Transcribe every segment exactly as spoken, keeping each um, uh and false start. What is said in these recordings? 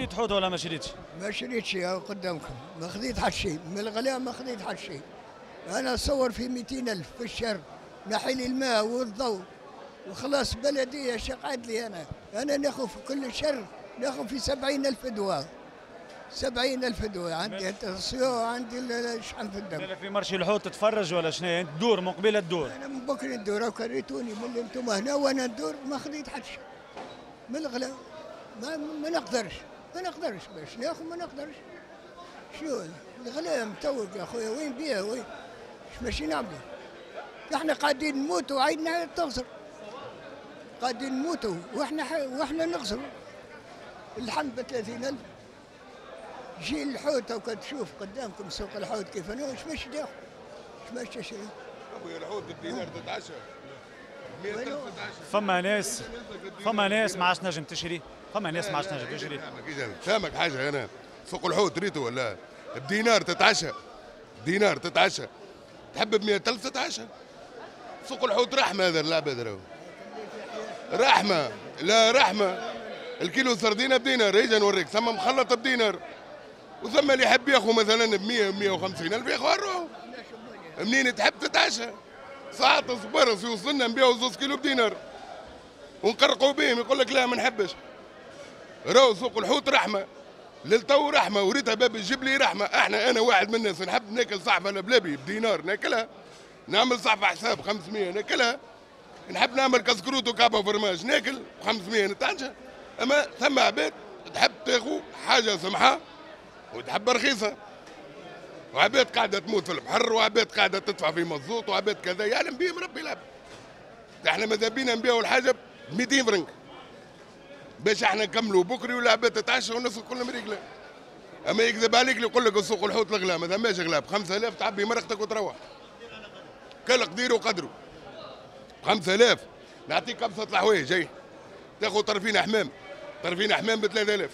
شريت حوت ولا ما شريتش؟ ما شريتش قدامكم، ما خذيت حتى شيء، من الغلاء ما خذيت حتى شيء. انا اصور في مئتين ألف في الشهر، نحي لي الماء والضوء وخلاص بلديه اش قعد لي انا؟ انا ناخذ في كل شهر ناخذ في سبعين ألف دواء. سبعين ألف دواء، عندي ال tension، عندي الشحم في الدم. في marché الحوت تتفرج ولا شنو؟ انت تدور من قبيلة تدور؟ انا من بكري ندور، كريتوني من اللي انتم هنا وانا ندور ما خذيت حتى شيء. من الغلا ما, ما نقدرش، ما نقدرش باش ناخذ ما نقدرش. شنو الغلا متوق يا خويا، وين بيه وين؟ اش ماشي نعملوا؟ احنا قاعدين نموتوا وعيننا تغزر. قاعدين نموتوا واحنا واحنا نغزروا. اللحم ب ثلاثين ألف. جي الحوت وكان تشوف قدامكم سوق الحوت كيف انا اش باش تاخذ؟ اش باش تشري؟ ابويا الحوت بالدينار تتعشى. فما ناس فما ناس ما عادش تنجم تشري، فما ناس ما عادش تنجم تشري. فاهمك حاجة، انا سوق الحوت ريتو ولا بدينار تتعشى، دينار تتعشى، تحب ب مئة ألف تتعشى. سوق الحوت رحمه، هذا العباد راهو رحمه، لا رحمه. الكيلو سردينه بدينار، اجا نوريك، ثم مخلط بدينار، وثم اللي يحب ياخذ مثلا ب مئة مئة وخمسين ألف ياخذ الروح. منين تحب تتعشى؟ ساعات صبرس يوصلنا نبيعوا زوز كيلو بدينار ونقرقوا بهم، يقول لك لا ما نحبش. راهو سوق الحوت رحمه، للتو رحمه، وريتها باب الجبلي رحمه. احنا انا واحد من الناس نحب ناكل صحفه لبلبي بدينار ناكلها، نعمل صحفه حساب خمسمية ناكلها، نحب نعمل كسكروت وكعبه وفرماج ناكل خمسمية نتعشى. اما ثم عباد تحب تاخذ حاجة سمحه وتحب رخيصة، وعباد قاعدة تموت في البحر، وعباد قاعدة تدفع في مزوط، وعباد كذا، يعلم بهم ربي العبد. احنا ماذا بينا نبيعوا الحاجة ب مئتين فرنك باش احنا نكملوا بكري والعباد تتعشى والناس الكل مريقله. اما يكذب عليك اللي يقول لك السوق الحوت الغلا، ما ثماش غلا، ب خمسة آلاف تعبي مرقتك وتروح. كل قدير وقدره. ب خمسة آلاف نعطيك ابسط الحوايج، اي تاخذ طرفين حمام، طرفين حمام ب ثلاثة آلاف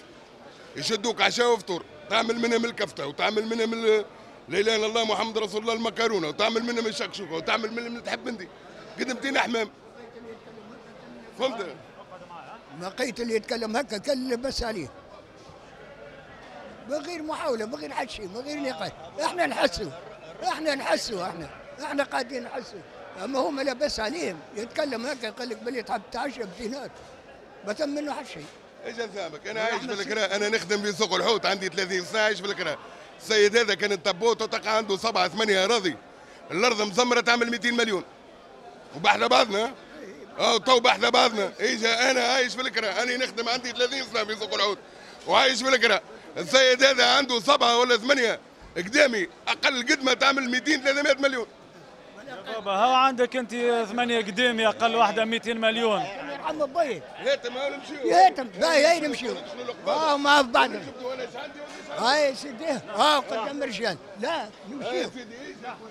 يشدوك عشاء وفطور، تعمل منهم الكفتة وتعمل منهم لا اله الا الله محمد رسول الله المكرونه، وتعمل منهم الشكشوكه، وتعمل منهم اللي تحب انت. قدمتين حمام. فهمت؟ لقيت اللي يتكلم هكا كان بس عليه. من غير محاولة، من غير حتى شيء، من غير نقاش، احنا نحسوا، احنا نحسوا، احنا احنا قاعدين نحسوا، اما هما لاباس عليهم يتكلم هكا يقول لك بلي تحب تعشى بدينار، ما تم منه حتى شيء. ايش نفهمك؟ انا عايش في الكراء، انا نخدم في سوق الحوت عندي ثلاثين سنة عايش في الكراء. السيد هذا كان التبوت وتقع عنده سبعة ثمانية اراضي، الارض مزمره تعمل مئتين مليون. وبحنا بعضنا اه تو بحنا بعضنا، اجا انا عايش في الكراء، انا نخدم عندي ثلاثين سنة في سوق الحوت وعايش في الكراء. السيد هذا عنده سبعة ولا ثمانية قدامي، اقل قدمه تعمل مئتين ثلاثمية مليون. يا بابا هاو عندك انت ثمانية قدامي اقل واحدة مئتين مليون. يرحم بي. هاتم هاو نمشيو. هاتم باهي هاي نمشيو. اه مع بعض. هاي سيدي اه قدام الرجال، لا نمشيو.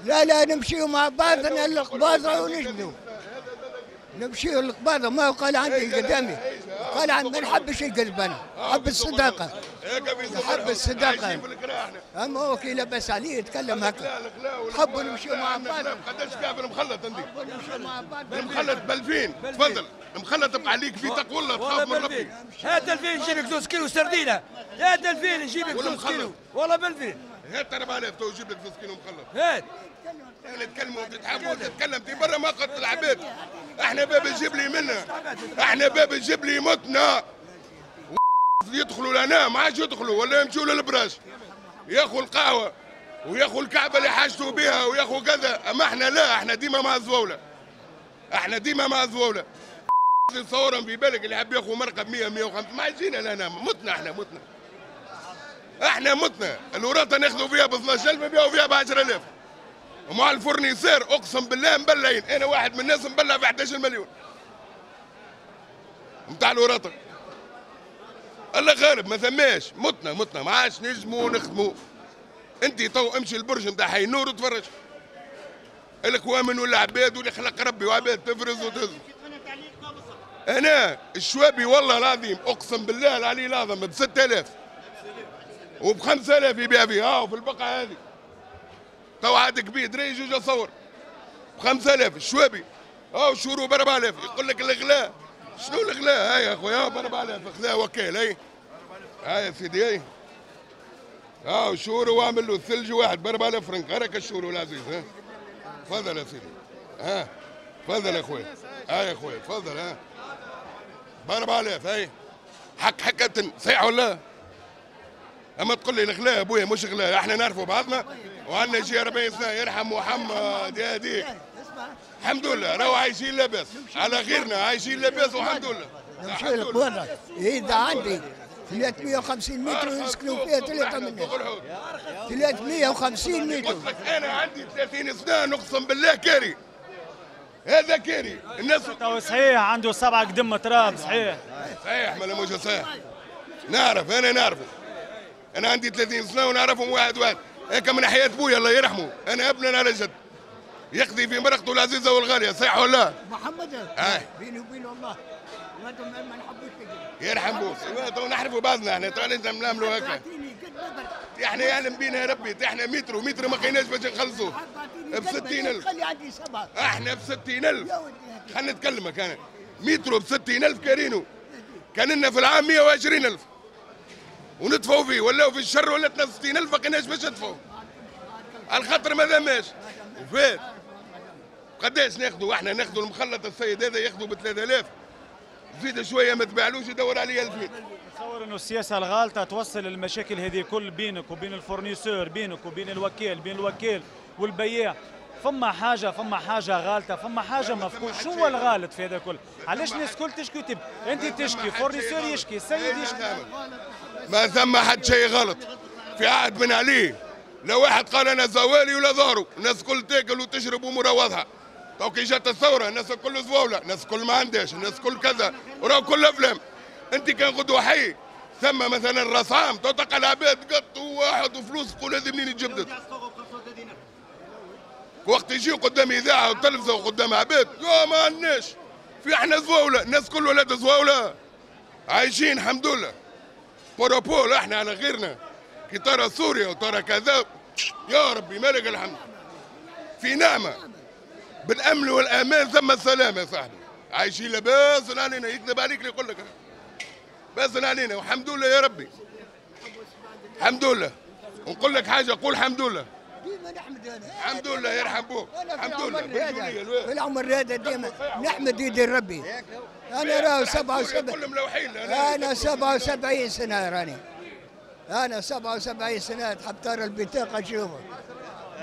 لا لا نمشيو مع بعضنا القباضه ونجبدوا. نمشيو للقباضه، ما قال عندي قدامي. قال عن ما نحبش القلب انا، نحب الصداقة. نحب الصداقة. اما هو كي لاباس عليه يتكلم هكا. نحبوا نمشيو مع بعض. قداش كعب المخلط عندي؟ نمشيو مع بعض. المخلط ب ألفين، تفضل. المخلط تبقى عليك في تقوى الله تخاف من ربي. هات ألفين نجيب لك زوج كيلو سردينه، هات ألفين نجيب لك زوج كيلو، والله ب ألفين. هات أربعة آلاف تو نجيب لك زوج كيلو مخلط. هات. تتكلموا وتتحبوا وتتكلم في برا ما قتل العباد. احنا باب الجبلي منا، احنا باب الجبلي متنا. يدخلوا لنا ما عادش يدخلوا ولا يمشوا للبراش، ياخذوا القهوة وياخذوا الكعبة اللي حاجته بها وياخذوا كذا، اما احنا لا، احنا ديما مع الزواوله. احنا ديما مع الزواوله. تصورهم في بالك اللي حاب ياخذ مرقه ب مية مية وخمسين ما يجينا لهنا، متنا احنا متنا. احنا متنا، الوراثة ناخذوا فيها ب اثناش ألف نبيعوا فيها ب عشرة آلاف. ومع ال fournisseur اقسم بالله مبلعين، انا واحد من الناس مبلع في احداش مليون. نتاع الوراثة. الله غالب ما ثماش، متنا متنا ما عادش نجموا نخدموا. انت تو امشي البرج نتاع حي النور وتفرج. الكوامن والعباد واللي خلق ربي وعباد تفرز وتهز. انا الشوابي والله العظيم اقسم بالله العلي العظيم ب ستة آلاف وب خمسة آلاف يبيع فيها، ها في البقعة هذه. تو عاد كبير دري جوج اصور ب خمسة آلاف الشوابي، ها الشورو ب أربعة آلاف، يقول لك الغلاء. شنو الغلاء؟ هاي يا خويا ب أربعة آلاف خذاه وكيل هاي. ها يا سيدي اي اه شورو واعمل له الثلج واحد ب أربعة آلاف فرنك، هراك الشورو العزيز. ها تفضل يا سيدي، ها تفضل يا خويا، ها يا خويا تفضل. ها ب أربعة آلاف هاي حق حكة صحيح ولا؟ اما تقول لي الغلاء ابويا مش غلاء، احنا نعرفوا بعضنا وعندنا يجي أربعين سنة يرحم محمد يا هديك. الحمد لله راهو عايشين لاباس على غيرنا، عايشين لاباس والحمد لله. نمشي لك برا إذا عندي ثلاثمية وخمسين متر يسكنوا فيها ثلاثة من الناس. ثلاثمية وخمسين متر. قلت لك أنا عندي ثلاثين سنة نقسم بالله كاري. هذا كاري الناس. صحيح عنده سبعة قدم تراب صحيح. صحيح ما مش صحيح. نعرف أنا نعرفه. أنا عندي ثلاثين سنة ونعرفهم واحد واحد. هيك من حياة بويا الله يرحمه، أنا ابنا على جد. يقضي في مرقته العزيزة والغالية، صحيح ولا لا؟ محمد بيني وبين الله ما نحبوش يرحم بوك، تو نحرفوا بعضنا احنا، تو علاش نعملوا هكا؟ احنا يعلم بينا يا ربي، احنا متر ومتر ما لقيناش باش نخلصوه ب ستين ألف. خلي عندي سبعة. احنا ب ستين ألف. خليني نتكلمك انا، مترو ب ستين ألف كارينو، كان لنا في العام مية وعشرين ألف وندفعوا فيه، ولاو في الشهر ولاتنا ستين ألف ما لقيناش باش ندفعوا. على خاطر ما ذماش وفات. قداش ناخذوا احنا؟ ناخذوا المخلط السيد هذا ياخذوا ب ثلاثة آلاف، زيد شوية ما تباعلوش يدور عليه ألفين. نتصور انه السياسة الغالطه توصل المشاكل هذه كل بينك وبين ال fournisseur، بينك وبين الوكيل، بين الوكيل والبياع. فما حاجة، فما حاجة غالطه، فما حاجة مفقود. شو هو الغالط في هذا كل؟ علاش الناس الكل تشكي وتب؟ انت تشكي، fournisseur يشكي، السيد يشكي. ما ثم حد شيء غلط في عهد بن علي. لا واحد قال انا زوالي ولا ظهره، الناس الكل تاكل وتشرب امورها واضحة. تو كي جات الثورة الناس الكل زواوله، الناس الكل ما عندهاش، الناس الكل كذا، وراو كل افلام. انت كان غدوه حي ثم مثلا راس عام تلقى العباد قط وواحد وفلوس تقول هذه منين تجبدت. وقت يجيو قدام اذاعة وتلفزه وقدام عباد، يا ما عندناش، في احنا زواوله، الناس الكل ولاد زواوله. عايشين الحمد لله. par rapport احنا على غيرنا، كي ترى سوريا وترى كذا، يا ربي مالك الحمد. في نعمه بالامن والامان ثم السلام يا صاحبي. عايشين لاباس علينا، يكذب عليك اللي يقول لك باس علينا والحمد لله يا ربي. الحمد لله. ونقول لك حاجة، قول الحمد لله. ديما نحمد انا. الحمد لله يرحم بوك. الحمد لله في العمر هذا ديما نحمد يدي ربي. انا راهو سبعة وسبعين، انا سبعة وسبعين سنة راني. انا سبعة وسبعين سنة تحب ترى البطاقة تشوفها.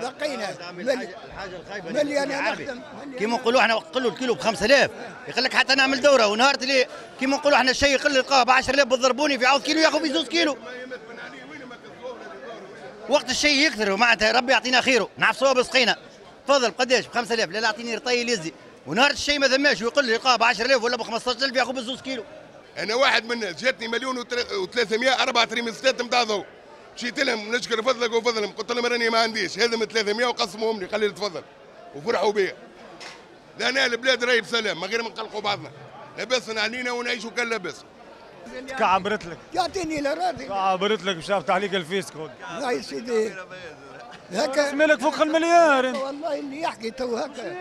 بقينا الحاجة الخايبة ملي انا نخدم كيما نقولوا احنا نقولوا الكيلو ب خمسة آلاف يقول لك حتى نعمل دوره، ونهار اللي كيما نقولوا احنا الشيء يقل يلقاه ب عشرة آلاف بالضربوني في عوض كيلو ياخذ في زوج كيلو. وقت الشيء يكثر ومعناتها ربي يعطينا خيره نعفسوها بسقينا. تفضل قداش؟ ب خمسة آلاف. لا لا اعطيني رطيل يزي. ونهار الشيء ما ثماش ويقول لي يلقاه ب عشرة آلاف ولا ب خمسطاش ألف ياخذ بزوج كيلو. انا واحد من الناس جاتني مليون وثلاثمية أربعة تريمستات نتاع ضوء، مشيت لهم نشكر فضلك وفضلهم، قلت لهم راني ما عنديش، هذا من ثلاثمية وقسموهم لي، قال لي تفضل، وفرحوا بيا. لأن البلاد راهي بسلام، من غير ما نقلقوا بعضنا، لاباس علينا ونعيشوا كان لاباس. كعبرت لك. يعطيني الأراضي. كعبرت لك باش عليك الفيسك. لا يا سيدي. هكا مالك فوق المليار انت. والله اللي يحكي تو هكا.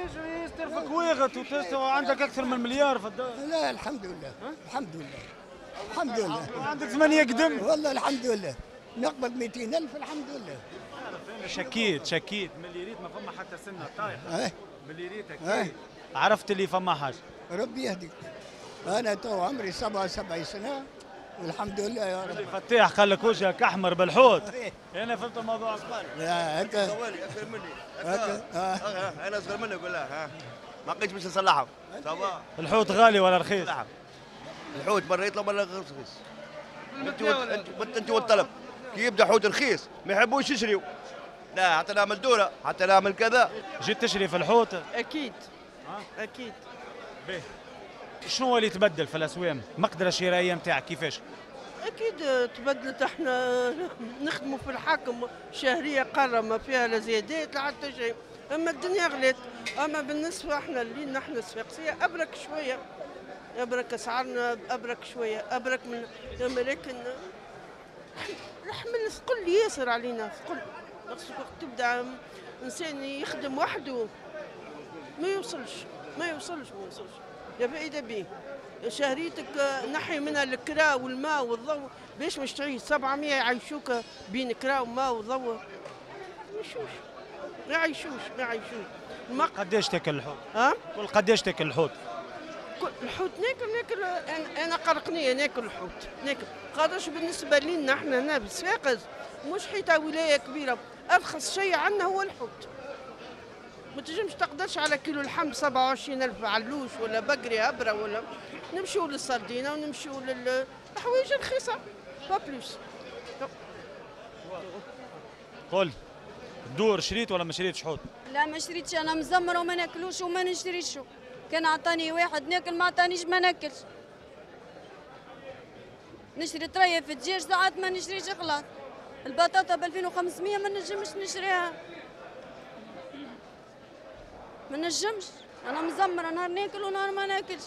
ترفك ويغت وعندك اكثر من مليار في الدار. لا الحمد لله، الحمد لله. الحمد لله. عندك ثمانية قدم. والله الحمد لله. نقبض مئتين ألف الحمد لله. انا شكيت شكيت من اللي ريت ما فما حتى سنة طايحة. من اللي ريت أكيد عرفت اللي فما حاجة. ربي يهديك. انا تو عمري سبعة وسبعين سنة والحمد لله يا رب. فتاح قال لك وجهك احمر بالحوت. انا فهمت الموضوع. لا هكا زوالي اكثر مني. هكا انا اصغر منك ولا ها ما لقيتش باش نصلحهم. الحوت غالي ولا رخيص؟ الحوت مرة يطلع مرة رخيص. انت انت والطلب كي يبدا حوت رخيص ما يحبوش يشريوا. لا حتى نعمل دوره حتى نعمل كذا. جيت تشري في الحوت؟ اكيد اكيد. باهي شنو هو اللي تبدل في الاسوام؟ المقدرة الشرائية نتاعك كيفاش؟ اكيد تبدلت، احنا نخدموا في الحاكم شهرية قارة ما فيها لا زيادات لا حتى شيء، اما الدنيا غلت. اما بالنسبة احنا اللي نحن الصفاقسيه ابرك شوية، ابرك اسعارنا ابرك شوية، ابرك من، لكن الحمل ثقل ياسر علينا، ثقل. وقت تبدا انسان يخدم وحده ما يوصلش ما يوصلش ما يوصلش. لا فائدة به. شهريتك نحي منها الكرا والماء والضوء باش مش تعيش سبعمية يعيشوك بين كرا وماء وضوء. ما يعيشوش ما يعيشوش ما يعيشوش. قداش تاكل الحوت؟ ها؟ قول قداش تاكل الحوت؟ الحوت ناكل ناكل انا انا قرقنيه ناكل الحوت ناكل، خاطرش بالنسبة لنا احنا هنا بالصفاقس مش حيطة ولاية كبيرة، ارخص شيء عندنا هو الحوت. ما تنجمش تقدرش على كيلو لحم سبعة وعشرين ألف علوش ولا بقري هبره ولا نمشيو للسردينه ونمشيو للحوايج رخيصة pas plus. قل دور شريت ولا ما شريتش حوت؟ لا ما شريتش، انا مزمره وما ناكلوش وما نشريش. كان عطاني واحد ناكل، ما عطانيش ما ناكلش. نشري طرية في الدجاج ساعات ما نشريش خلاص. البطاطا ب ألفين وخمسمية ما نجمش نشريها، ما نجمش. انا مزمره نهار ناكل ونهار ما ناكلش.